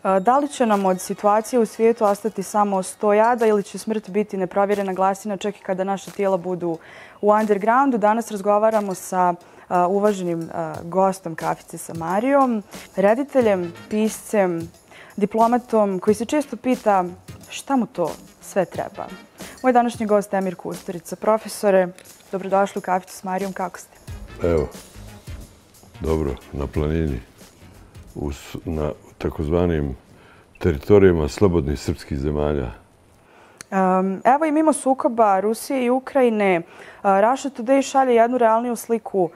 Da li će nam od situacije u svijetu ostati samo 100 jada ili će smrt biti neprovjerena glasina čak i kada naša tijela budu u undergroundu? Danas razgovaramo sa uvaženim gostom Kafice sa Marijom, rediteljem, piscem, diplomatom koji se često pita šta mu to sve treba. Moj današnji gost Emir Kusturica. Profesore, dobrodošli u Kaficu s Marijom, kako ste? Evo, dobro, na planini, na takozvanim teritorijama slobodnih srpskih zemalja. Evo i mimo sukoba Rusije i Ukrajine, Russia Today šalje jednu realniju sliku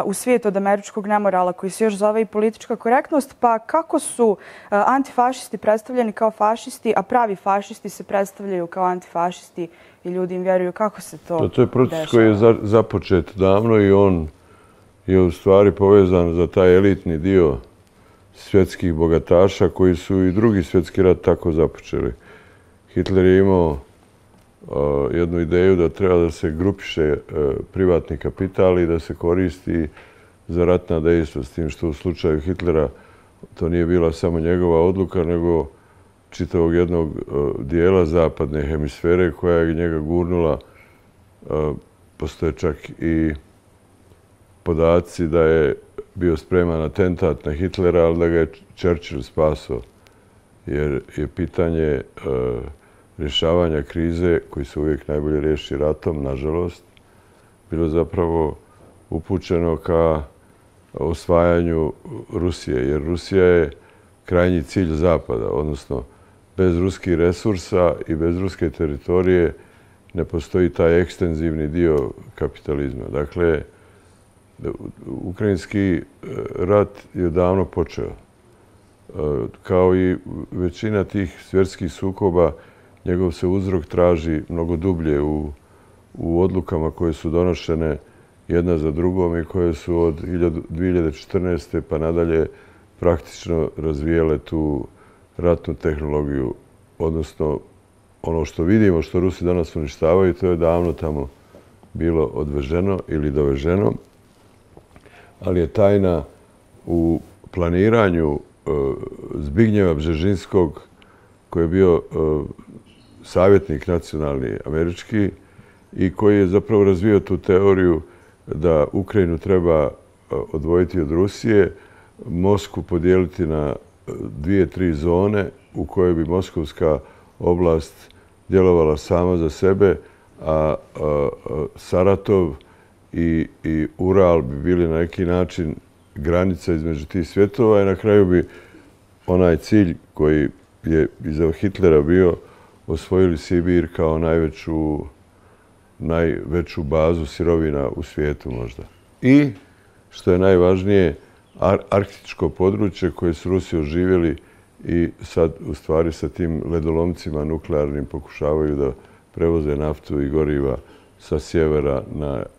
u svijetu od američkog nemorala koji se još zove i politička korektnost. Pa kako su antifašisti predstavljeni kao fašisti, a pravi fašisti se predstavljaju kao antifašisti i ljudi im vjeruju? Kako se to dešava? To je proces koji je započet davno i on je u stvari povezan za taj elitni dio svjetskih bogataša koji su i drugi svjetski rat tako započeli. Hitler je imao jednu ideju da treba da se grupiše privatni kapital i da se koristi za ratna dejstva, s tim što u slučaju Hitlera to nije bila samo njegova odluka, nego čitavog jednog dijela zapadne hemisfere koja je njega gurnula. Postoje čak i podaci da je bio spreman atentat na Hitlera, ali da ga je Churchill spasao. Jer je pitanje rješavanja krize, koji se uvijek najbolje riješi ratom, nažalost, bilo zapravo upućeno ka osvajanju Rusije. Jer Rusija je krajnji cilj Zapada, odnosno bez ruskih resursa i bez ruske teritorije ne postoji taj ekstenzivni dio kapitalizma. Dakle, ukrajinski rat je davno počeo. Kao i većina tih svjetskih sukoba, njegov se uzrok traži mnogo dublje u odlukama koje su donošene jedna za drugom i koje su od 2014. pa nadalje praktično razvijele tu ratnu tehnologiju. Odnosno, ono što vidimo, što Rusi danas uništavaju, to je davno tamo bilo odveženo ili doveženo. Ali je tajna u planiranju Zbignjeva Bžežinskog, koji je bio savjetnik nacionalni američki i koji je zapravo razvio tu teoriju da Ukrajinu treba odvojiti od Rusije, Moskvu podijeliti na 2-3 zone u kojoj bi moskovska oblast djelovala sama za sebe, a Saratov i Ural bi bili na neki način granica između tih svjetova i na kraju bi onaj cilj koji je iza Hitlera bio osvojili Sibir kao najveću bazu sirovina u svijetu možda. I, što je najvažnije, arktičko područje koje su Rusi oživjeli i sad u stvari sa tim ledolomcima nuklearnim pokušavaju da prevoze naftu i goriva sa sjevera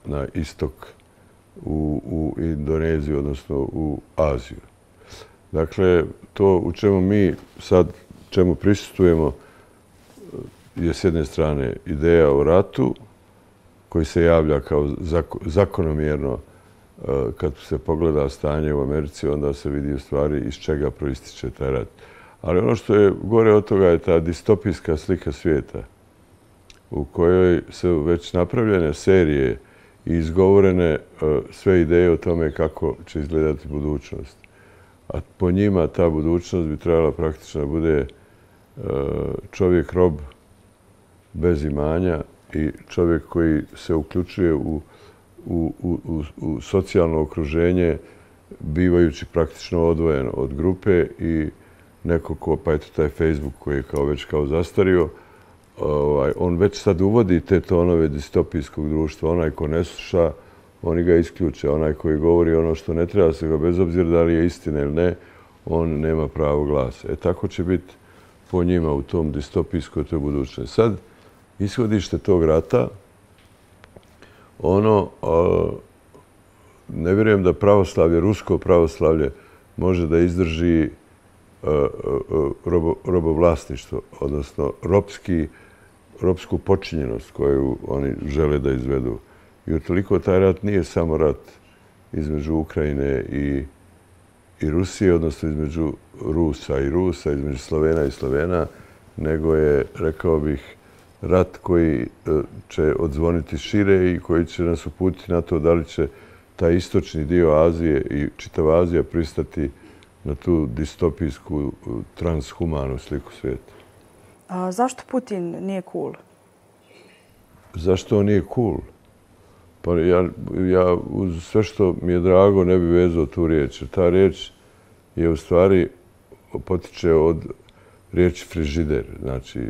na istok u Indoneziju, odnosno u Aziju. Dakle, to u čemu mi sad prisustvujemo je s jedne strane ideja o ratu koji se javlja kao zakonomjerno. Kad se pogleda stanje u Americi, onda se vidi u stvari iz čega proističe taj rat. Ali ono što je gore od toga je ta distopijska slika svijeta u kojoj su već napravljene serije i izgovorene sve ideje o tome kako će izgledati budućnost. A po njima ta budućnost bi trebala praktično da bude čovjek rob bez imanja i čovjek koji se uključuje u socijalno okruženje bivajući praktično odvojen od grupe i neko ko, pa eto taj Facebook koji je već zastario, on već sad uvodi te tonove distopijskog društva. Onaj ko ne sluša, oni ga isključe. Onaj koji govori ono što ne treba se ga, bez obzira da li je istina ili ne, on nema pravo glasa. Tako će biti po njima u tom distopijskoj toj budućnosti. Sad, ishodište tog rata, ne vjerujem da pravoslavlje, rusko pravoslavlje, može da izdrži robovlasništvo, odnosno ropsku počinjenost koju oni žele da izvedu. I utoliko taj rat nije samo rat između Ukrajine Rusije, odnosno između Rusa i Rusa, između Slovena i Slovena, nego je, rekao bih, rat koji će odzvoniti šire i koji će nas uputiti na to da li će taj istočni dio Azije i čitava Azija pristati na tu distopijsku, transhumanu sliku svijeta. Zašto Putin nije cool? Zašto on nije cool? Pa ja uz sve što mi je drago ne bi vezao tu riječ. Ta riječ je u stvari potiče od riječi frižider. Znači,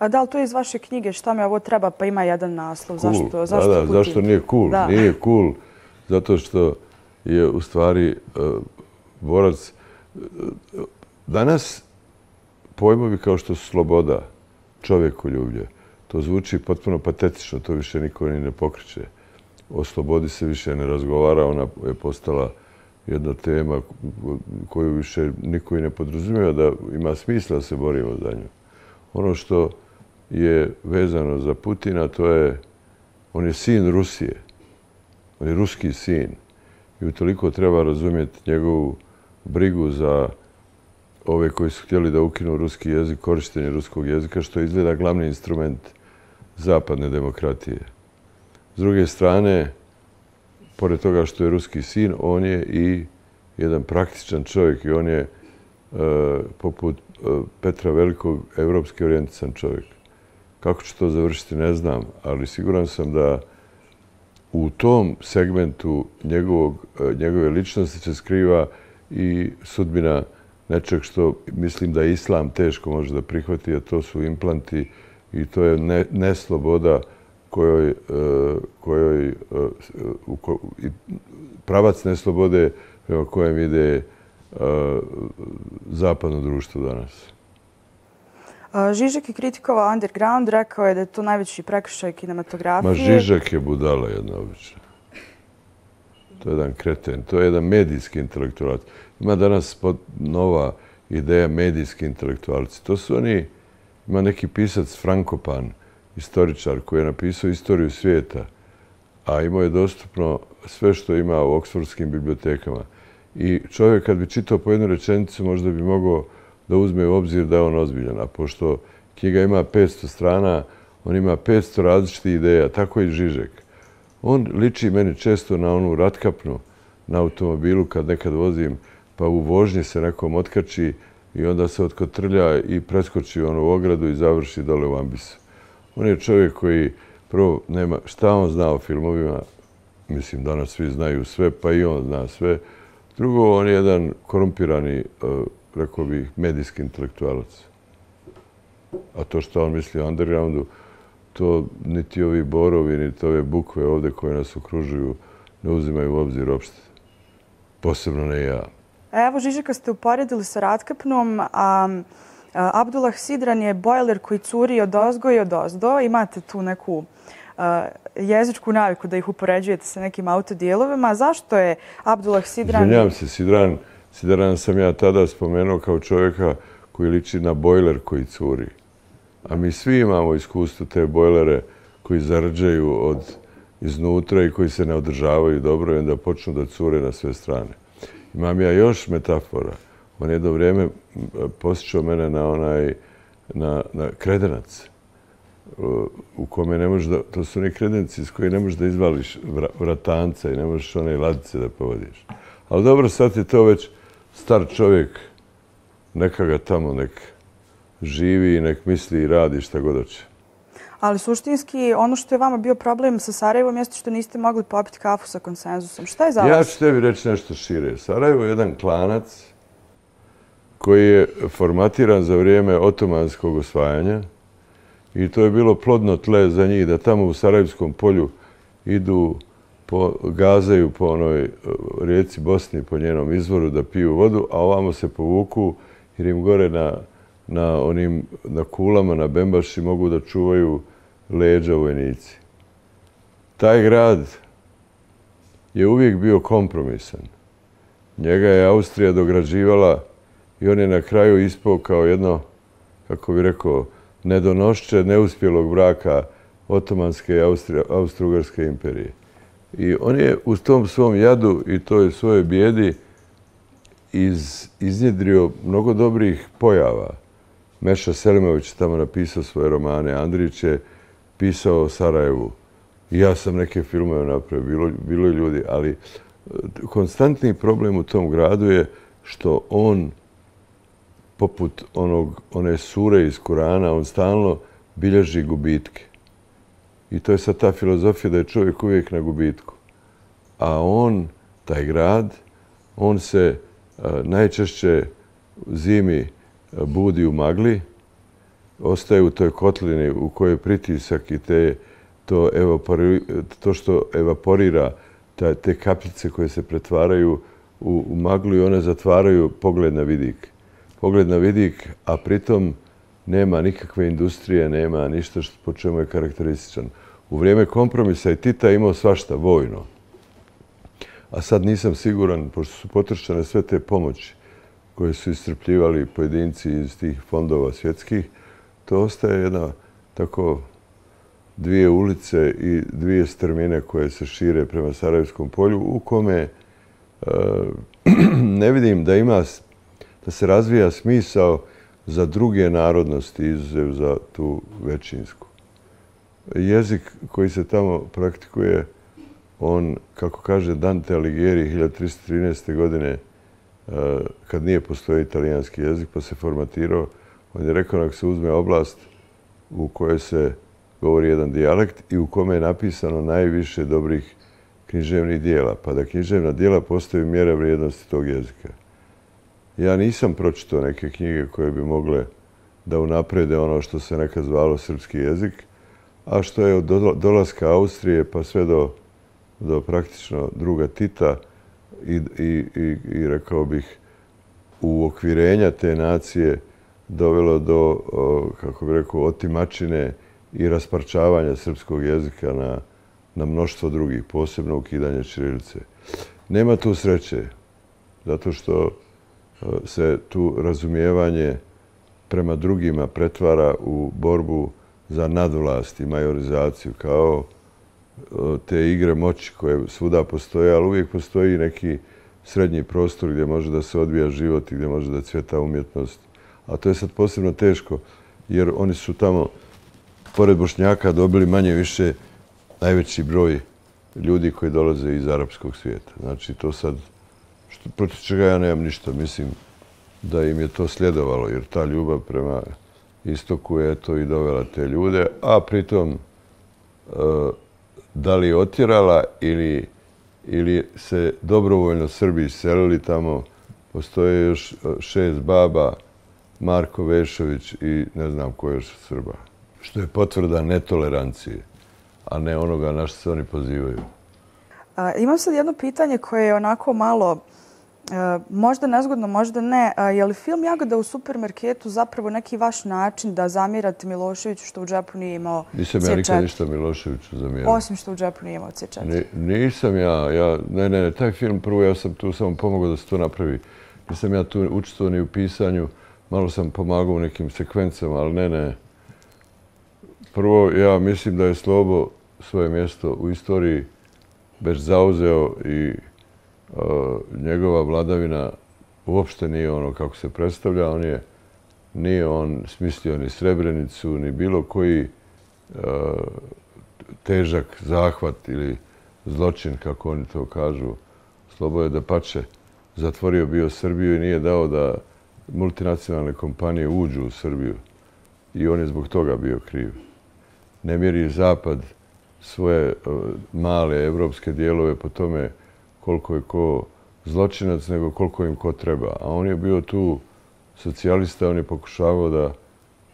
da li to je iz vaše knjige Šta mi ovo treba pa ima jedan naslov? Cool. Zašto nije cool? Da. Nije cool zato što je u stvari borac. Danas pojmovi kao što su sloboda, čovjekoljublje, to zvuči potpuno patetično, to više niko ni ne pokreće. O slobodi se više ne razgovara, ona je postala jedna tema koju više niko i ne podrazumijeva da ima smisla da se borimo za nju. Ono što je vezano za Putina, to je, on je sin Rusije. On je ruski sin. I utoliko treba razumjeti njegovu brigu za ove koji su htjeli da ukinu ruski jezik, korištenje ruskog jezika, što izgleda glavni instrument zapadne demokratije. S druge strane, pored toga što je ruski sin, on je i jedan praktičan čovjek i on je, poput Petra Velikog, evropski orijentisan čovjek. Kako će to završiti, ne znam, ali siguran sam da u tom segmentu njegove ličnosti se skriva i sudbina nečeg što mislim da islam teško može da prihvati, a to su implanti i to je nesloboda pravac neslobode prema kojem ide zapadno društvo danas. Žižek je kritikovao underground, rekao je da je to najveći prekršaj kinematografije. Ma Žižek je budala jedna obična. To je jedan kreten, to je jedan medijski intelektualac. Ima danas nova ideja medijski intelektualci. To su oni, ima neki pisac Frankopan, istoričar koji je napisao istoriju svijeta, a imao je dostupno sve što ima u oksfordskim bibliotekama. I čovjek kad bi čitao po jednu rečenicu možda bi mogao da uzme u obzir da je on ozbiljan. A pošto knjiga ima 500 strana, on ima 500 različitih ideja, tako i Žižek. On liči meni često na onu ratkapnu na automobilu kad nekad vozim, pa u vožnji se nekom otkači i onda se otkotrlja i preskoči onu ogradu i završi dole u ambisu. On je čovjek koji prvo nema šta on zna o filmovima, mislim danas svi znaju sve, pa i on zna sve. Drugo, on je jedan korumpirani, rekao bih, medijski intelektualac. A to što on misli o undergroundu, to niti ovi borovi, niti ove bukve ovdje koje nas okružuju ne uzimaju u obzir uopšte. Posebno ne ja. Evo, Žižeka ste uporedili sa Ratkapnom, a Abdullah Sidran je bojler koji curi odozgo i odozdo. Imate tu neku jezičku naviku da ih upoređujete sa nekim autodijelovima. Zašto je Abdullah Sidran... Izvinjam se, Sidran sam ja tada spomenuo kao čovjeka koji liči na bojler koji curi. A mi svi imamo iskustvo te bojlere koji zarđaju iznutra i koji se ne održavaju dobro i onda počnu da cure na sve strane. Imam ja još metafora. On jedno vrijeme posjećao mene na kredenac u kome ne možeš da... To su oni kredenci iz koji ne možeš da izvališ vratanca i ne možeš one ladice da povodiš. Ali dobro, sad je to već star čovjek. Neka ga tamo nek živi i nek misli i radi šta god hoće. Ali suštinski, ono što je vama bio problem sa Sarajevom jeste što niste mogli popiti kafu sa Konsenzusom. Šta je za vas? Ja ću tebi reći nešto šire. Sarajevo je jedan klanac koji je formatiran za vrijeme otomanskog osvajanja i to je bilo plodno tle za njih da tamo u Sarajevskom polju idu, gazaju po onoj rijeci Bosni, po njenom izvoru da piju vodu, a ovamo se povuku jer im gore na kulama, na Bembaši mogu da čuvaju leđa vojnici. Taj grad je uvijek bio kompromisan. Njega je Austrija dograđivala i on je na kraju ispao kao jedno, kako bi rekao, nedonošće neuspjelog braka Otomanske i Austro-Ugarske imperije. I on je u tom svom jadu i toj svojoj bijedi iznjedrio mnogo dobrih pojava. Meša Selimović je tamo napisao svoje romane, Andrić je pisao o Sarajevu. I ja sam neke filmove napravio, bilo je ljudi, ali konstantni problem u tom gradu je što on, poput one sure iz Kurana, on stalno bilježi gubitke. I to je sad ta filozofija da je čovjek uvijek na gubitku. A on, taj grad, on se najčešće zimi budi u magli, ostaje u toj kotlini u kojoj je pritisak i to što evaporira, te kapljice koje se pretvaraju u maglu i one zatvaraju pogled na vidik. Pogled na vidik, a pritom nema nikakve industrije, nema ništa po čemu je karakterističan. U vrijeme kompromisa i Tita imao svašta vojno. A sad nisam siguran, pošto su potrošene sve te pomoći koje su iscrpljivali pojedinci iz tih fondova svjetskih, to ostaje jedna tako dvije ulice i dvije strmine koje se šire prema Sarajevskom polju, u kome ne vidim da se razvija smisao za druge narodnosti, izuzev za tu većinsku. Jezik koji se tamo praktikuje, on, kako kaže Dante Alighieri 1313. godine, kad nije postojao italijanski jezik pa se formatirao, on je rekao da se uzme oblast u kojoj se govori jedan dijalekt i u kome je napisano najviše dobrih književnih dijela, pa da književna dijela postaju mjera vrijednosti tog jezika. Ja nisam pročitao neke knjige koje bi mogle da unaprede ono što se nekad zvalo srpski jezik, a što je od dolaska Austrije pa sve do praktično druga Tita i rekao bih uokvirenja te nacije dovelo do, kako bih rekao, otimačine i rasparčavanja srpskog jezika na mnoštvo drugih, posebno ukidanje ćirilice. Nema tu sreće, zato što se tu razumijevanje prema drugima pretvara u borbu za nadvlast i majorizaciju, kao te igre moći koje svuda postoje, ali uvijek postoji neki srednji prostor gdje može da se odvija život i gdje može da cvjeta umjetnost. A to je sad posebno teško, jer oni su tamo, pored Bošnjaka, dobili manje više najveći broj ljudi koji dolaze iz arapskog svijeta. Znači, to sad, protiv čega ja nemam ništa, mislim da im je to sljedovalo, jer ta ljubav prema istoku je to i dovela te ljude, a pritom da li je otjerala ili se dobrovoljno Srbi iselili tamo, postoje još 6 baba, Marko Vešović i ne znam ko još Srba. Što je potvrda netolerancije, a ne onoga na što se oni pozivaju. Imam sad jedno pitanje koje je onako malo, možda nezgodno, možda ne. Je li film Jagoda u supermarketu zapravo neki vaš način da zamirate Miloševiću što u džepu nije imao C4? Nisam ja nikad ništa Miloševiću zamjerao. Osim što u džepu nije imao C4. Nisam ja. Ne, taj film prvo ja sam tu samo pomogao da se to napravi. Nisam ja tu učestvovao ni u pisanju, malo sam pomagao u nekim sekvencama, ali ne. Prvo, ja mislim da je Slobo svoje mjesto u istoriji već zauzeo i njegova vladavina uopšte nije ono kako se predstavlja. Nije on smislio ni Srebrenicu, ni bilo koji težak zahvat ili zločin, kako oni to kažu. Slobo je dapače zatvorio bio Srbiju i nije dao da multinacionalne kompanije uđu u Srbiju. I on je zbog toga bio kriv. Ne mjeri Zapad svoje male evropske dijelove po tome koliko je ko zločinac, nego koliko im ko treba. A on je bio tu socijalista, on je pokušavao da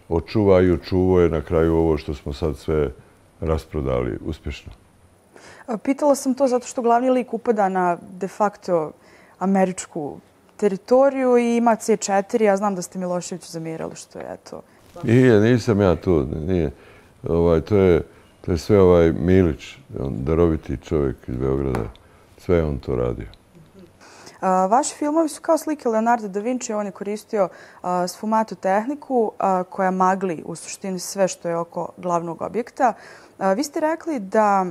očuva i očuvao je na kraju ovo što smo sad sve rasprodali uspješno. Pitala sam to zato što glavni lik upada na de facto američku teritoriju i ima C4. Ja znam da ste Miloševiću zamjerali što je to. Nisam ja tu. To je sve Milić, daroviti čovjek iz Beograda. Sve je on to radio. Vaši filmovi su kao slike Leonardo da Vinci. On je koristio sfumato tehniku koja magli u suštini sve što je oko glavnog objekta. Vi ste rekli da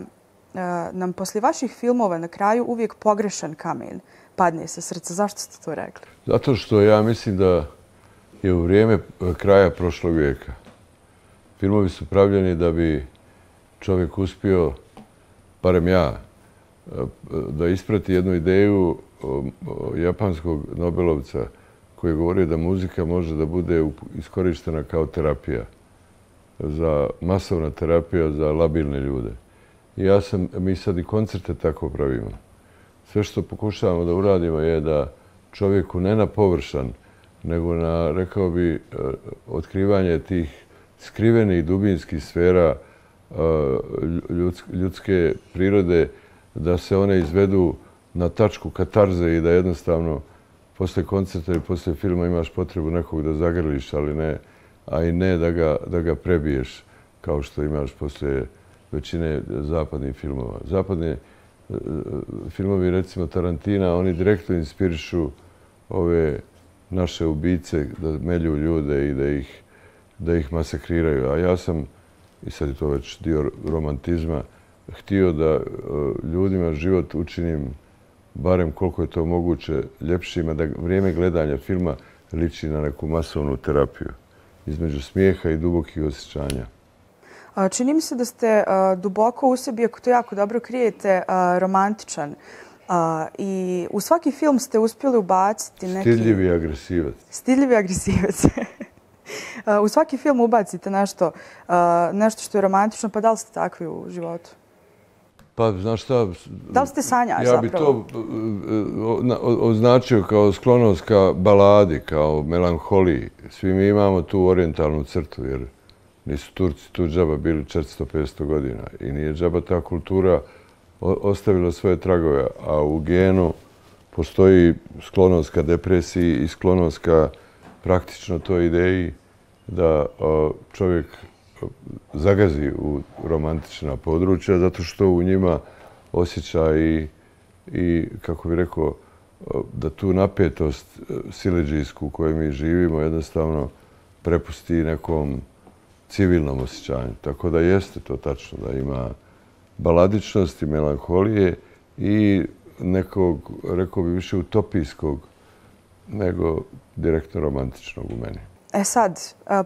nam poslije vaših filmova na kraju uvijek pogrešan kamen padne sa srca. Zašto ste to rekli? Zato što ja mislim da je u vrijeme kraja prošlog vijeka. Filmovi su pravljeni da bi čovjek uspio, barem ja, da isprati jednu ideju japanskog Nobelovca koji je govorio da muzika može da bude iskorištena kao terapija, masovna terapija za labilne ljude. I mi sad i koncerte tako pravimo. Sve što pokušavamo da uradimo je da čovjeku ne na površan, nego na, rekao bi, otkrivanje tih skrivenih dubinskih sfera ljudske prirode, da se one izvedu na tačku katarze i da jednostavno posle koncerta ili posle filma imaš potrebu nekog da zagrliš, a i ne da ga prebiješ kao što imaš posle većine zapadnih filmova. Zapadni filmovi, recimo Tarantina, oni direktno inspirišu ove naše ubice da melju ljude i da ih masakriraju. A ja sam, i sad je to već dio romantizma, htio da ljudima život učinim barem koliko je to moguće ljepšima, da vrijeme gledanja filma liči na neku masovnu terapiju između smijeha i dubokih osjećanja. Čini mi se da ste duboko u sebi, ako to jako dobro krijete, romantičan. I u svaki film ste uspjeli ubaciti neki... Stidljivi agresivac. Stidljivi agresivac. U svaki film ubacite nešto što je romantično, pa da li ste takvi u životu? Pa, znaš šta... Da li ste sanjaš zapravo? Ja bi to označio kao sklonost ka baladi, kao melanholiji. Svi mi imamo tu orijentalnu crtu, jer nisu Turci tu džaba bili 400-500 godina. I nije džaba ta kultura ostavila svoje tragove. A u genu postoji sklonost ka depresiji i sklonost ka praktično toj ideji da čovjek zagazi u romantična područja, zato što u njima osjeća i kako bih rekao, da tu napetost siledžijsku u kojoj mi živimo jednostavno prepusti nekom civilnom osjećanju. Tako da jeste to tačno, da ima baladičnosti, melanholije i nekog, rekao bih, više utopijskog nego direktno romantičnog u meni. Sad,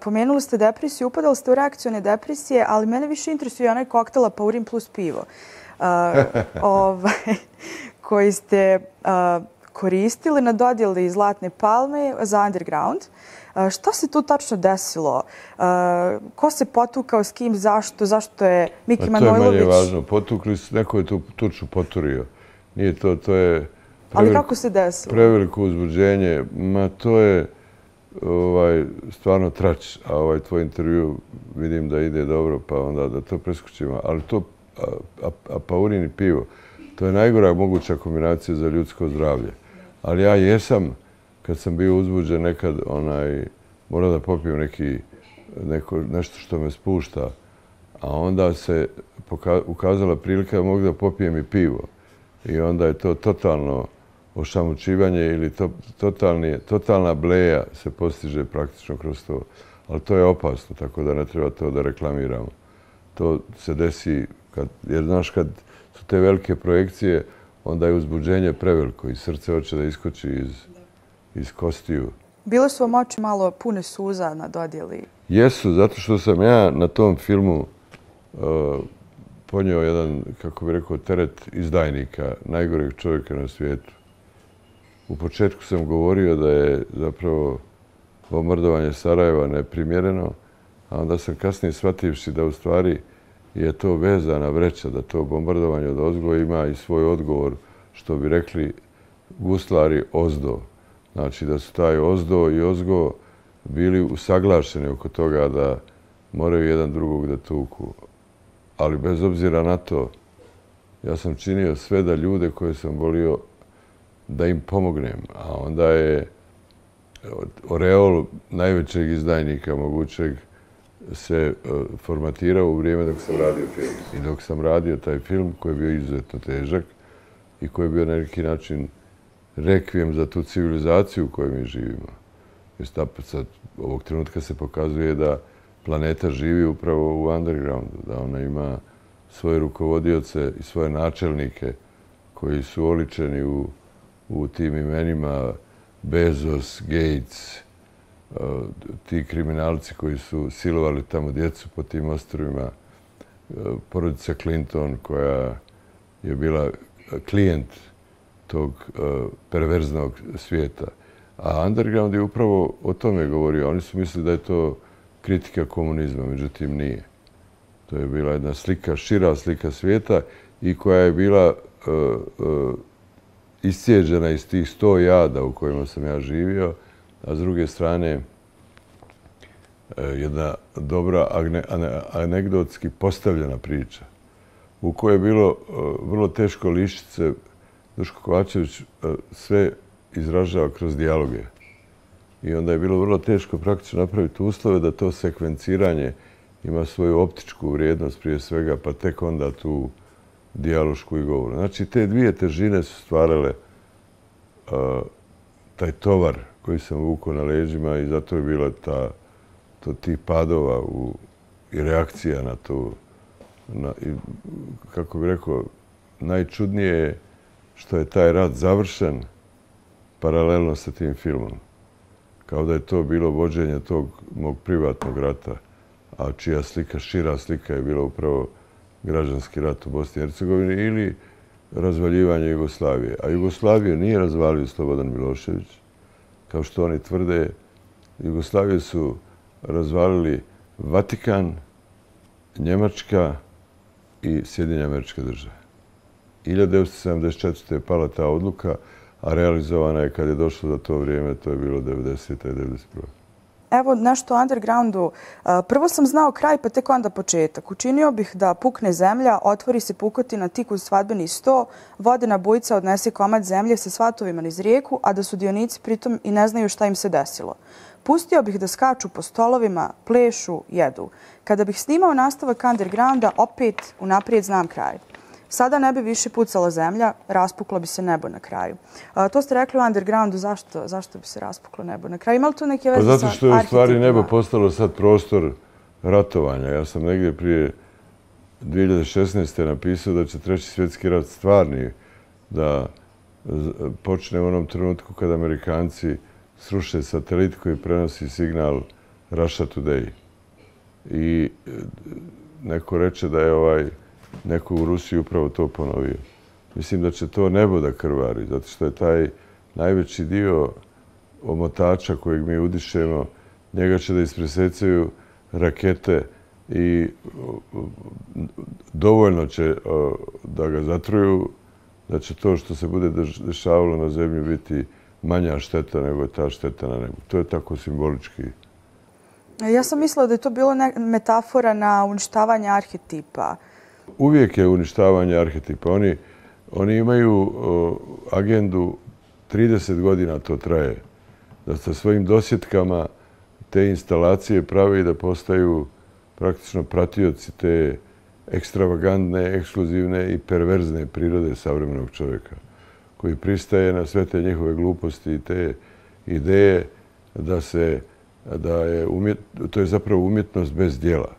pomenuli ste depresiju, upadali ste u reakcione depresije, ali mene više interesuje onaj koktel Apaurin plus pivo koji ste koristili na dodjeli Zlatne palme za Underground. Šta se tu tačno desilo? Ko se potukao, s kim, zašto? Zašto je Miki Manojlović... To je manje važno. Potukli su, neko je tu tuču poturio. Nije to je... Ali kako se desilo? Preveliko uzbuđenje. Ma to je stvarno trač. A tvoj intervju vidim da ide dobro, pa onda da to preskočimo. Ali to, Apaurin i pivo, to je najgora moguća kombinacija za ljudsko zdravlje. Ali ja jesam, kad sam bio uzbuđen nekad, morao da popijem nešto što me spušta. A onda se ukazala prilika da mogu da popijem i pivo. I onda je to totalno ošamučivanje ili totalna bleja se postiže praktično kroz to. Ali to je opasno, tako da ne treba to da reklamiramo. To se desi, jer znaš, kad su te velike projekcije, onda je uzbuđenje preveliko i srce hoće da iskoči iz kostiju. Bile su vam oči malo pune suza na dodjeli? Jesu, zato što sam ja na tom filmu ponio jedan, kako bih rekao, teret izdajnika, najgoreg čovjeka na svijetu. U početku sam govorio da je zapravo bombardovanje Sarajeva neprimjereno, a onda sam kasnije shvativši da u stvari je to vezana vreća, da to bombardovanje od ozgo ima i svoj odgovor, što bi rekli guslari ozdo. Znači da su taj ozdo i ozgo bili usaglašeni oko toga da moraju jedan drugog da tuku. Ali bez obzira na to, ja sam činio sve da ljude koje sam volio da im pomognem. A onda je oreol najvećeg izdajnika mogućeg se formatirao u vrijeme dok sam radio film. I dok sam radio taj film koji je bio izuzetno težak i koji je bio na neki način rekvijem za tu civilizaciju u kojoj mi živimo. Jer sad ovog trenutka se pokazuje da planeta živi upravo u undergroundu, da ona ima svoje rukovodioce i svoje načelnike koji su oličeni u u tim imenima Bezos, Gates, ti kriminalci koji su silovali tamo djecu po tim ostrvima, porodica Clinton koja je bila klijent tog perverznog svijeta. A underground je upravo o tome govorio. Oni su mislili da je to kritika komunizma, međutim nije. To je bila jedna slika, šira slika svijeta i koja je bila iscijeđena iz tih 100 jada u kojima sam ja živio, a s druge strane jedna dobra anegdotski postavljena priča u kojoj je bilo vrlo teško lišiti se. Duško Kovačević sve izražava kroz dijaloge. I onda je bilo vrlo teško praktično napraviti uslove da to sekvenciranje ima svoju optičku vrijednost prije svega, pa tek onda tu dijalošku i govoru. Znači, te dvije težine su stvarale taj tovar koji sam vukao na leđima i zato je bila tih padova i reakcija na to. Kako bih rekao, najčudnije je što je taj rat završen paralelno sa tim filmom. Kao da je to bilo vođenje tog mog privatnog rata, a čija slika, šira slika je bila upravo građanski rat u Bosni i Hercegovini ili razvaljivanje Jugoslavije. A Jugoslaviju nije razvalio Slobodan Milošević. Kao što oni tvrde, Jugoslaviju su razvalili Vatikan, Njemačka i Sjedinjene Američke Države. 1974. je pala ta odluka, a realizovana je kad je došlo za to vrijeme, to je bilo 90. i 91. Evo nešto o undergroundu. Prvo sam znao kraj, pa tek onda početak. Učinio bih da pukne zemlja, otvori se pukotina tik uz svadbeni sto, vodena bujica odnese komad zemlje sa svatovima niz rijeku, a da sudionici pritom i ne znaju šta im se desilo. Pustio bih da skaču po stolovima, plešu, jedu. Kada bih snimao nastavak undergrounda, opet unaprijed znam kraj. Sada ne bi više pucala zemlja, raspuklo bi se nebo na kraju. To ste rekli u undergroundu, zašto bi se raspuklo nebo na kraju? Ima li to neke veze sa arhetipima? Zato što je u stvari nebo postalo sad prostor ratovanja. Ja sam negdje prije 2016. napisao da će Treći svjetski rat stvarni da počne u onom trenutku kada Amerikanci sruše satelit koji prenosi signal Russia Today. I neko reče da je neko u Rusiji upravo to ponovio. Mislim da će to nebo da krvari, zato što je taj najveći dio omotača kojeg mi udišemo, njega će da ispresecaju rakete i dovoljno će da ga zatruju, da će to što se bude dešavalo na zemlji biti manja šteta nego je ta šteta na nebu. To je tako simbolički. Ja sam mislila da je to bilo metafora na uništavanje arhetipa. Uvijek je uništavanje arhetipa. Oni imaju agendu, 30 godina to traje, da sa svojim dosjetkama te instalacije pravi da postaju praktično pratioci te ekstravagantne, ekskluzivne i perverzne prirode savremenog čovjeka, koji pristaje na sve te njihove gluposti i te ideje to je zapravo umjetnost bez djela.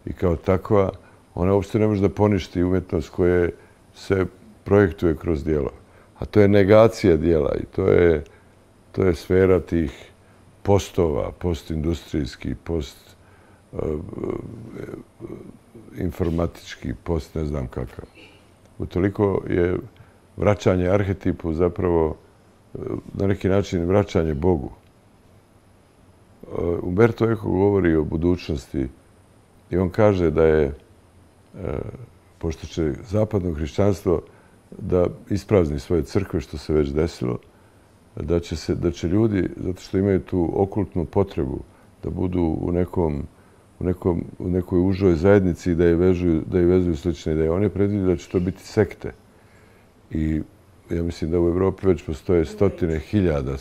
I kao takva, ona uopšte ne može da poništi umjetnost koja se projektuje kroz djelo. A to je negacija djela i to je sfera tih postova, postindustrijski, postinformatički, post ne znam kakav. Utoliko je vraćanje arhetipu zapravo na neki način vraćanje Bogu. Umberto Eco govori o budućnosti i on kaže da je, pošto će zapadno hrišćanstvo da isprazni svoje crkve, što se već desilo, da će ljudi, zato što imaju tu okultnu potrebu, da budu u nekoj užoj zajednici i da je vezuju slične ideje. On je predvidio da će to biti sekte. I ja mislim da u Evropi već postoje stotine hiljada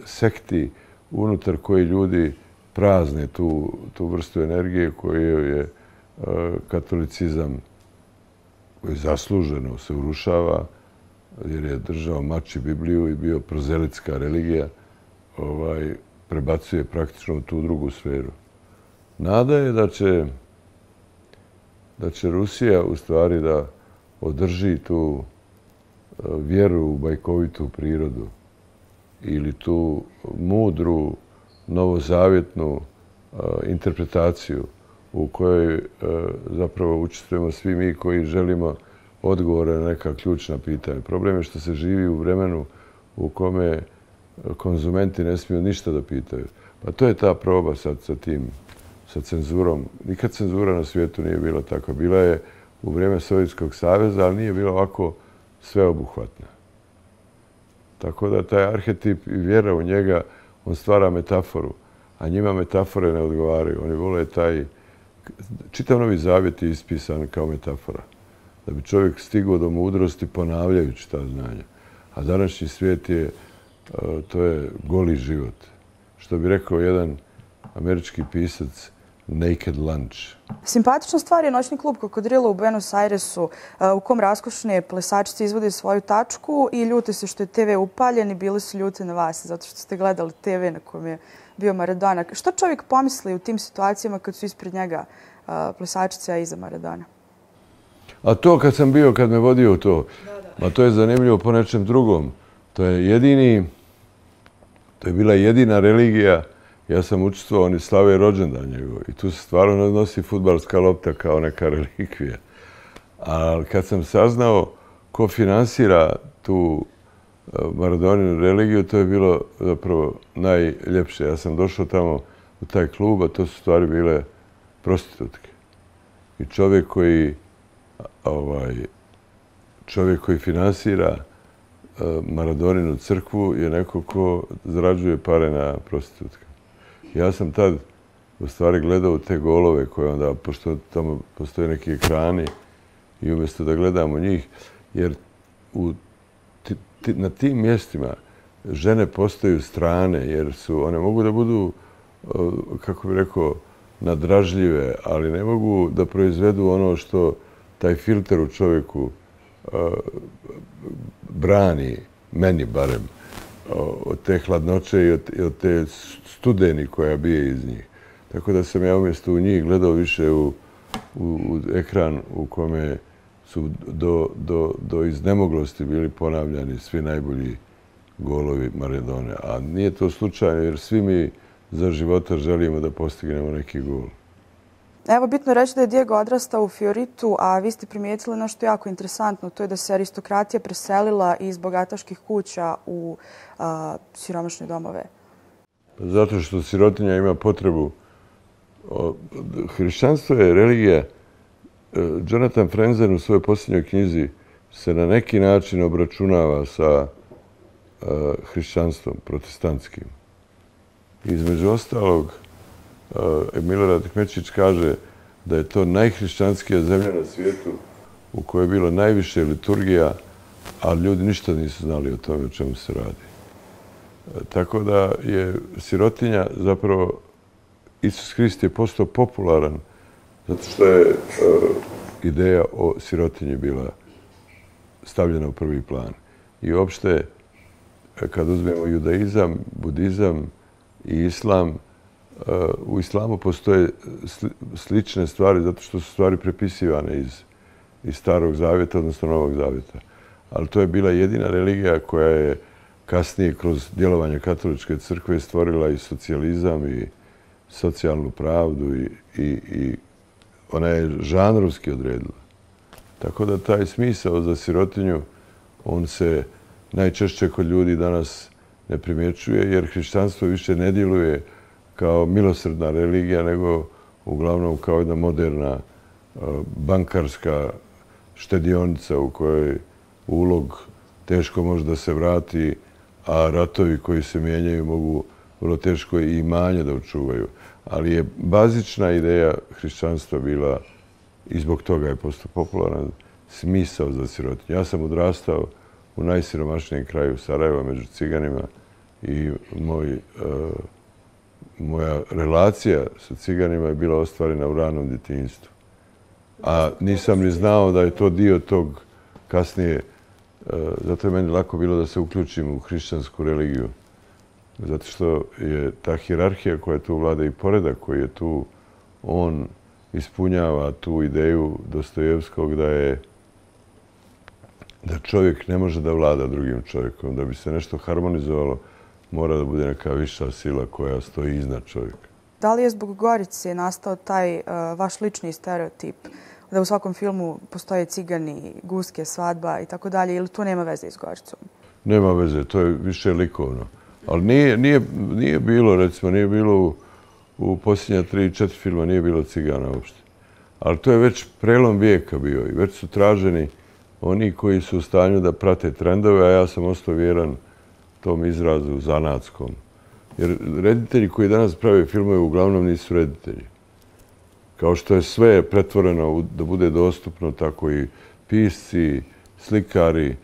sekti unutar koji ljudi prazne tu vrstu energije koju je katolicizam, koji zasluženo se urušava, jer je držao mači Bibliju i bio prozelitska religija, prebacuje praktično u tu drugu sferu. Nada je da će Rusija u stvari da održi vjeru u bajkovitu prirodu ili tu mudru, novozavjetnu interpretaciju u kojoj zapravo učestvujemo svi mi koji želimo odgovore na neka ključna pitanja. Problem je što se živi u vremenu u kome konzumenti ne smiju ništa da pitaju. Pa to je ta proba sad sa cenzurom. Nikad cenzura na svijetu nije bila takva. Bila je u vrijeme Sovjetskog saveza, ali nije bila ovako sveobuhvatna. Tako da taj arhetip i vjera u njega, on stvara metaforu, a njima metafore ne odgovaraju. Oni vole taj... Čitav Novi Zavjet je ispisan kao metafora. Da bi čovjek stigao do mudrosti ponavljajući ta znanja. A današnji svijet je, to je goli život. Što bi rekao jedan američki pisac, naked lunch. Simpatična stvar je noćni klub Kokodrilo u Buenos Airesu, u kom raskošne plesačice izvode svoju tačku i ljute se što je TV upaljen i bili su ljute na vas, zato što ste gledali TV na kojem je bio Maradona. Što čovjek pomisli u tim situacijama kad su ispred njega plesačice, a iza Maradona? A to kad me vodio to, a to je zanimljivo po nečem drugom. To je bila jedina religija. Ja sam učestvovao, oni slave rođendan njegov i tu se stvarno nosi fudbalska lopta kao neka relikvija. Ali kad sam saznao ko finansira tu Maradoninu religiju, to je bilo zapravo najljepše. Ja sam došao tamo u taj klub, a to su stvari bile prostitutke. I čovjek koji finansira Maradoninu crkvu je neko ko zarađuje pare na prostitutkama. Ja sam tad u stvari gledao te golove koje onda, pošto tamo postoje neki ekrani i umjesto da gledamo njih, jer na tim mjestima žene postaju strane, jer one mogu da budu, kako bih rekao, nadražljive, ali ne mogu da proizvedu ono što taj filter u čovjeku brani, meni barem, od te hladnoće i od te studeni koja bije iz njih. Tako da sam ja umjesto u njih gledao više u ekran u kome su do iznemoglosti bili ponavljani svi najbolji golovi Maradone. A nije to slučajno jer svi mi za života želimo da postignemo neki gol. Evo, bitno je reći da je Diego odrastao u Fioritu, a vi ste primijetili nešto jako interesantno, to je da se aristokratija preselila iz bogataških kuća u siromašne domove. Zato što sirotinja ima potrebu. Hrišćanstvo je religija. Jonathan Franzen u svojoj posljednjoj knjizi se na neki način obračunava sa hrišćanstvom protestantskim. Između ostalog, Milorad Kmečić kaže da je to najhrišćanskija zemlja na svijetu u kojoj je bilo najviše liturgija, a ljudi ništa nisu znali o tome o čemu se radi. Tako da je sirotinja, zapravo, Isus Hrist je postao popularan zato što je ideja o sirotinji bila stavljena u prvi plan. I uopšte, kad uzmemo judaizam, budizam i islam, u islamu postoje slične stvari zato što su stvari prepisivane iz Starog Zavjeta, odnosno Novog Zavjeta. Ali to je bila jedina religija koja je kasnije kroz djelovanje katoličke crkve stvorila i socijalizam i socijalnu pravdu i ona je žanrovski odredila. Tako da taj smisao za sirotinju, on se najčešće kod ljudi danas ne primjećuje jer hrišćanstvo više ne djeluje kao milosrdna religija, nego uglavnom kao jedna moderna bankarska štedionica u kojoj ulog teško može da se vrati, a ratovi koji se mijenjaju mogu vrlo teško i imanje da očuvaju. Ali je bazična ideja hrišćanstva bila, i zbog toga je postao popularan, smisao za sirotinju. Ja sam odrastao u najsiromašnijem kraju Sarajeva među ciganima i moja relacija sa ciganima je bila ostvarena u ranom djetinjstvu. A nisam ni znao da je to dio tog kasnije. Zato je meni lako bilo da se uključim u hrišćansku religiju. Zato što je ta hijerarhija koja tu vlada i poredak koji je tu, on ispunjava tu ideju Dostojevskog da je da čovjek ne može da vlada drugim čovjekom. Da bi se nešto harmonizovalo, mora da bude neka viša sila koja stoji iznad čovjeka. Da li je zbog Gorice nastao taj vaš lični stereotip da u svakom filmu postoje cigani, guske, svadba i tako dalje, ili to nema veze s Goricom? Nema veze, to je više likovno. Ali nije bilo, recimo, nije bilo u posljednja 3-4 filma, nije bilo cigana uopšte. Ali to je već prelom vijeka bio i već su traženi oni koji su u stanju da prate trendove, a ja sam ostao vjeran tom izrazu zanatskom. Jer reditelji koji danas prave filmove uglavnom nisu reditelji. Kao što je sve pretvoreno da bude dostupno, tako i pisci, slikari,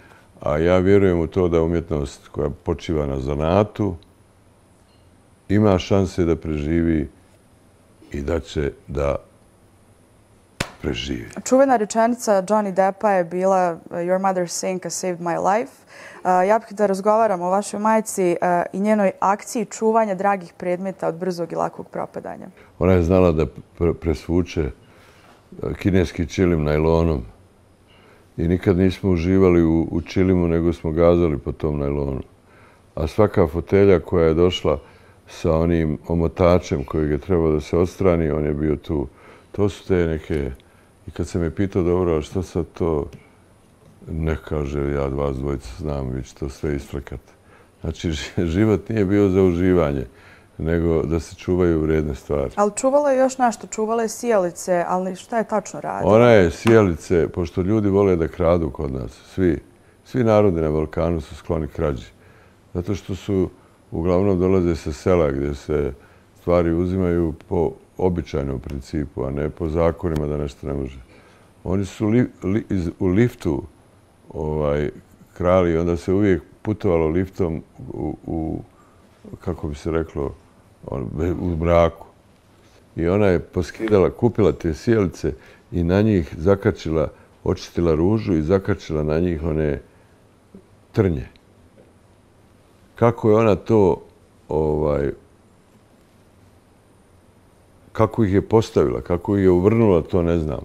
a ja vjerujem u to da umjetnost koja počiva na zanatu ima šanse da preživi i da će da preživi. Čuvena rečenica Johnny Deppa je bila Your mother's sink has saved my life. Ja bih da razgovaram o vašoj majci i njenoj akciji čuvanja dragih predmeta od brzog i lakog propadanja. Ona je znala da presvuče kineski čilim najlonom i nikad nismo uživali u čilimu, nego smo gazali po tom najlonu. A svaka fotelja koja je došla sa onim omotačem kojeg je trebao da se odstrani, on je bio tu. To su te neke... I kad sam je pitao, dobro, što sad to ne kaže, ja vas dvojica znam, vi će to sve isfrkati. Znači, život nije bio za uživanje, nego da se čuvaju vrijedne stvari. Ali čuvala je još nešto, čuvala je sijalice, ali šta je tačno radila? Ona je sijalice, pošto ljudi vole da kradu kod nas, svi narodi na Balkanu su skloni krađi. Zato što su, uglavnom dolaze sa sela gdje se stvari uzimaju po običajnom principu, a ne po zakonima da nešto ne može. Oni su u liftu krali i onda se uvijek putovalo liftom u kako bi se reklo, u mraku. I ona je poskidala, kupila te sijalice i na njih zakačila, očistila ružu i zakačila na njih one trnje. Kako je ona to kako ih je postavila, kako ih je uvrnula, to ne znam.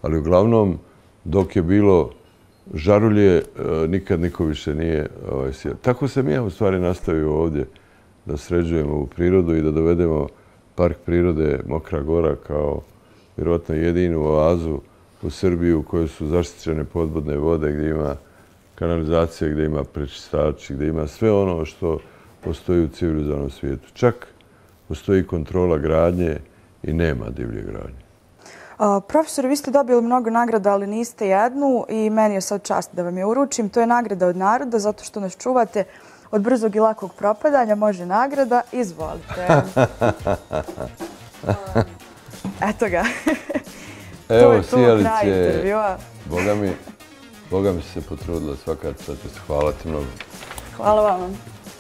Ali uglavnom, dok je bilo žarulje, nikad niko više nije sjeo. Tako sam ja u stvari nastavio ovdje da sređujemo ovu prirodu i da dovedemo park prirode Mokra Gora kao vjerovatno jedinu oazu u Srbiji u kojoj su zaštićene podvodne vode, gdje ima kanalizacija, gdje ima prečistači, gdje ima sve ono što postoji u civilizovanom svijetu. Čak postoji kontrola gradnje i nema divlje gradnje. Profesor, vi ste dobili mnogo nagrada, ali niste jednu i meni je sad čast da vam je uručim. To je nagrada od naroda, zato što nas čuvate od brzog i lakog propadanja. Može nagrada. Izvolite. Eto ga. Evo, sijalice. Boga mi se potrudila svaka čast. Hvala ti mnogo. Hvala vam.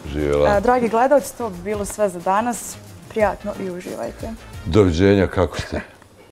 Živjela. Dragi gledalci, to bi bilo sve za danas. Prijatno i uživajte. Doviđenja, kako ste?